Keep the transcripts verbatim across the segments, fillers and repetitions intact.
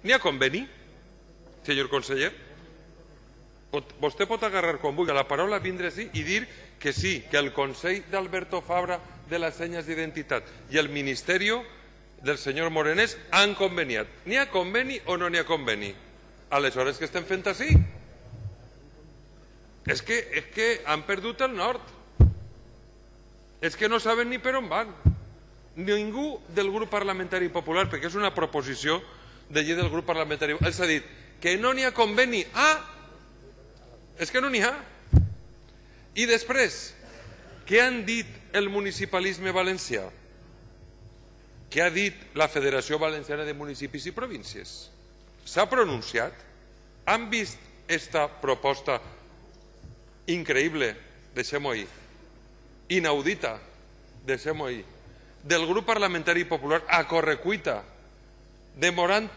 N'hi ha conveni, senyor conseller? Pot, vostè pot agarrar quan vulgui la paraula, vindre així i dir que sí, que el Consell d'Alberto Fabra de les senyes d'identitat i el Ministeri del senyor Morenés han conveniat. N'hi ha conveni o no n'hi ha conveni? Aleshores, què estem fent així? És que, és que han perdut el nord. És que no saben ni per on van. Ningú del grup parlamentari popular, perquè és una proposició de llei del grup parlamentari, els ha dit que no n'hi ha conveni. Ah, és que no n'hi ha. I després, què han dit el municipalisme valencià? Què ha dit la Federació Valenciana de Municipis i Províncies? S'ha pronunciat? Han vist esta proposta increïble, deixem-ho ahir, inaudita, deixem-ho ahir, del grup parlamentari popular a correcuita, demorant,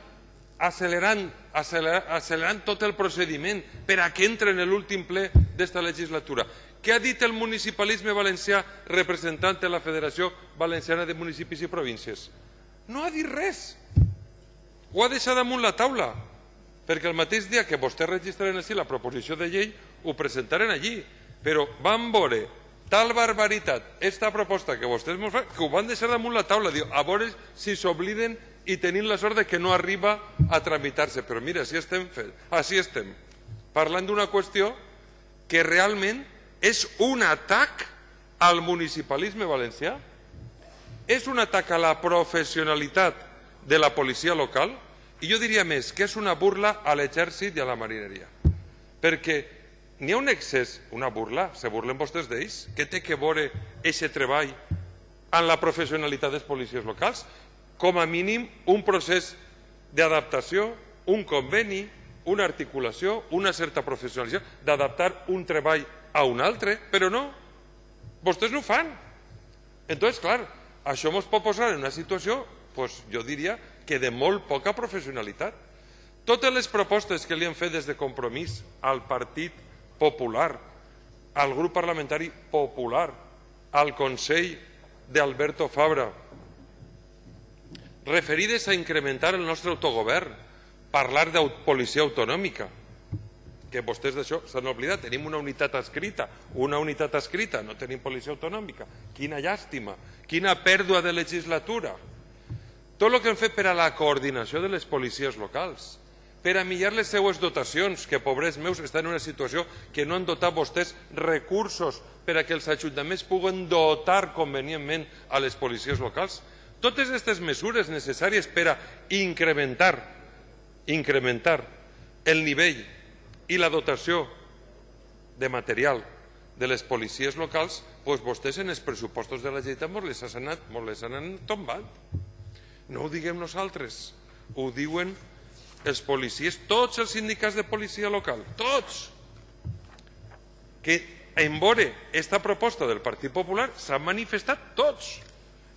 accelerant, accelerant, accelerant tot el procediment per a que entre en l'últim ple d'esta legislatura? Què ha dit el municipalisme valencià representant de la Federació Valenciana de Municipis i Províncies? No ha dit res. Ho ha deixat damunt la taula, perquè el mateix dia que vostès registraren així la proposició de llei ho presentaren allí, però van veure tal barbaritat esta proposta que vostès ens fan que ho van deixar damunt la taula, diu, a veure si s'obliden i tenim la sort de que no arriba a tramitar-se. Però mira, així estem fent, així estem parlant d'una qüestió que realment és un atac al municipalisme valencià, és un atac a la professionalitat de la policia local, i jo diria més que és una burla a l'exèrcit i a la marineria, perquè n'hi ha un excés, una burla, se burlen vostès d'ells, què té que veure aquest treball en la professionalitat dels policies locals? Com a mínim un procés d'adaptació, un conveni, una articulació, una certa professionalització, d'adaptar un treball a un altre, però no, vostès no ho fan. Entonces, clar, això ens pot posar en una situació, pues, jo diria que de molt poca professionalitat. Totes les propostes que li han fet des de Compromís al Partit Popular, al grup parlamentari popular, al Consell d'Alberto Fabra, referides a incrementar el nostre autogovern, parlar de policia autonòmica, que vostès d'això s'han oblidat, tenim una unitat escrita, una unitat escrita, no tenim policia autonòmica. Quina llàstima, quina pèrdua de legislatura. Tot el que han fet per a la coordinació de les policies locals, per a millorar les seues dotacions, que pobres meus estan en una situació que no han dotat vostès recursos per a que els ajuntaments puguen dotar convenientment a les policies locals. Totes aquestes mesures necessàries per a incrementar, incrementar el nivell i la dotació de material de les policies locals, doncs vostès en els pressupostos de la Generalitat ens les han tombant. No ho diguem nosaltres, ho diuen els policies, tots els sindicats de policia local, tots, que en veure aquesta proposta del Partit Popular s'han manifestat tots,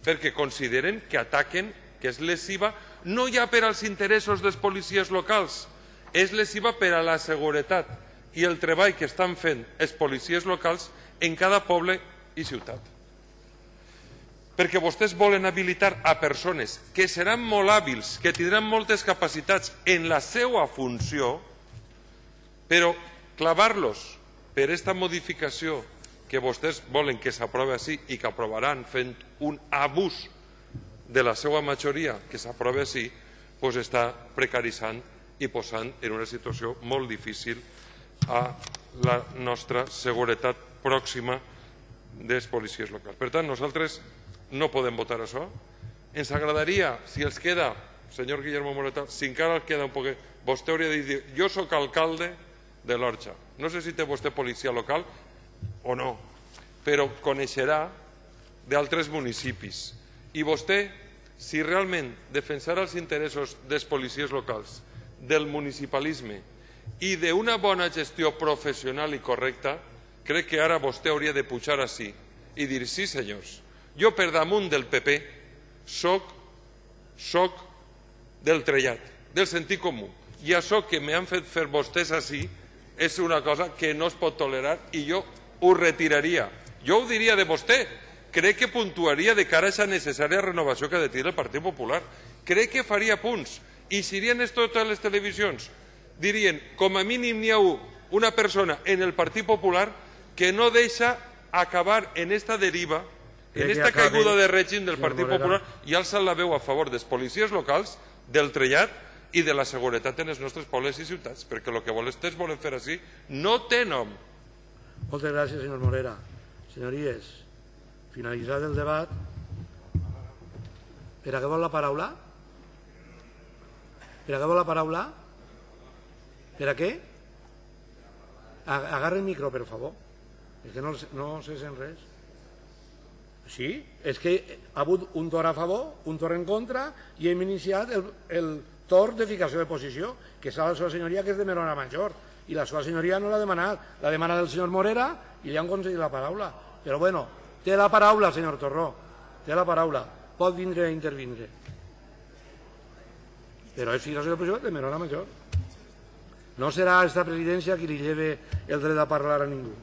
perquè consideren que ataquen, que és lesiva, no ja per als interessos dels policies locals, és lesiva per a la seguretat i el treball que estan fent els policies locals en cada poble i ciutat. Perquè vostès volen habilitar a persones que seran molt hàbils, que tindran moltes capacitats en la seva funció, però clavar-los per aquesta modificació que vostès volen que s'aprovi així i que aprovaran fent un abús de la seva majoria que s'aprovi així, doncs està precaritzant i posant en una situació molt difícil a la nostra seguretat pròxima dels policies locals. Per tant, nosaltres no podem votar això. Ens agradaria, si els queda, senyor Guillermo Moreta, si encara els queda un poquet, vostè hauria de dir, jo soc alcalde de l'Orxa. No sé si té vostè policia local o no, però coneixerà d'altres municipis. I vostè, si realment defensarà els interessos dels policies locals, del municipalisme i d'una bona gestió professional i correcta, crec que ara vostè hauria de pujar així i dir, sí senyors, jo per damunt del P P soc, soc del trellat, del sentit comú. I això que m'han fet fer vostès així és una cosa que no es pot tolerar i jo ho retiraria. Jo ho diria de vostè. Crec que puntuaria de cara a aquesta necessària renovació que ha de tenir el Partit Popular. Crec que faria punts I si dirien esto totes les televisions, dirien, com a mínim n'hi ha una persona en el Partit Popular que no deixa acabar en esta deriva, en esta caiguda de règim del Partit Popular, i alça la veu a favor dels policies locals, del trellat i de la seguretat en els nostres pobles i ciutats, perquè el que vostès volen fer així no té nom. Moltes gràcies, senyor Morera. Senyories, finalitzat el debat. Per a què vol la paraula? Per a què vol la paraula? Per a què? Agarra el micro, per favor. És que no, no se sent res. Sí, és que ha hagut un torn a favor, un torn en contra, i hem iniciat el, el torn de ficació de posició, que és la seva senyoria, que és de Merona Major, i la seva senyoria no l'ha demanat, l'ha demanat el senyor Morera i li han concedit la paraula. Però bueno, té la paraula, senyor Torró, té la paraula, pot vindre a intervindre. Però és ficació de posició de Merona Major. No serà esta presidència qui li lleve el dret a parlar a ningú.